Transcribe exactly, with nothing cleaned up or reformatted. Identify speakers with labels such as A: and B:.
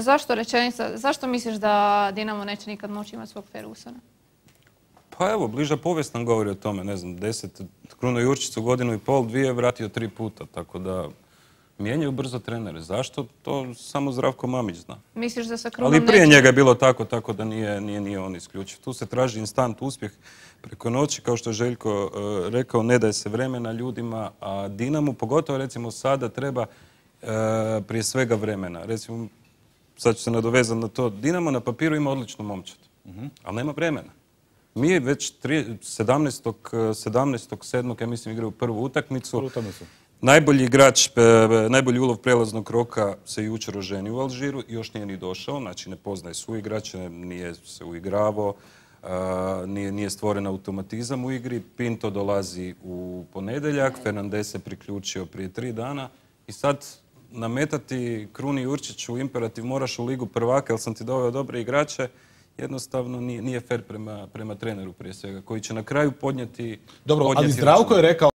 A: Zašto rečenica, zašto misliš da Dinamo neće nikad moći imati svog Fergusona?
B: Pa evo, bliža povijest nam govori o tome, ne znam, deset, Kruno Jurčić u godinu i pol, dvije vratio tri puta, tako da mijenjaju brzo trenere. Zašto? To samo Zdravko Mamić zna.
A: Misliš da sa Krunom
B: Ali prije
A: neće?
B: njega je bilo tako, tako da nije, nije, nije on isključiv. Tu se traži instant uspjeh preko noći, kao što je Željko uh, rekao, ne daje se vremena ljudima, a Dinamu, pogotovo recimo sada, treba uh, prije svega vremena. Recimo, sad ću se nadovezati na to, Dinamo na papiru ima odličnu momčad, uh-huh. ali nema vremena. Mi već sedamnaestog sedmog ja mislim igraju prvu utakmicu. Najbolji igrač, najbolji ulov prelaznog roka se jučer oženio u Alžiru i još nije ni došao, znači ne poznaje suigrače, nije se uigravao, nije, nije stvoren automatizam u igri. Pinto dolazi u ponedjeljak, Fernandes se priključio prije tri dana i sad nametati Kruni Jurčiću imperativ moraš u ligu prvaka jer sam ti doveo dobre igrače, jednostavno nije, nije fair prema, prema treneru prije svega, koji će na kraju podnijeti...
C: Dobro,
B: podnijeti
C: ali Zdravko je rekao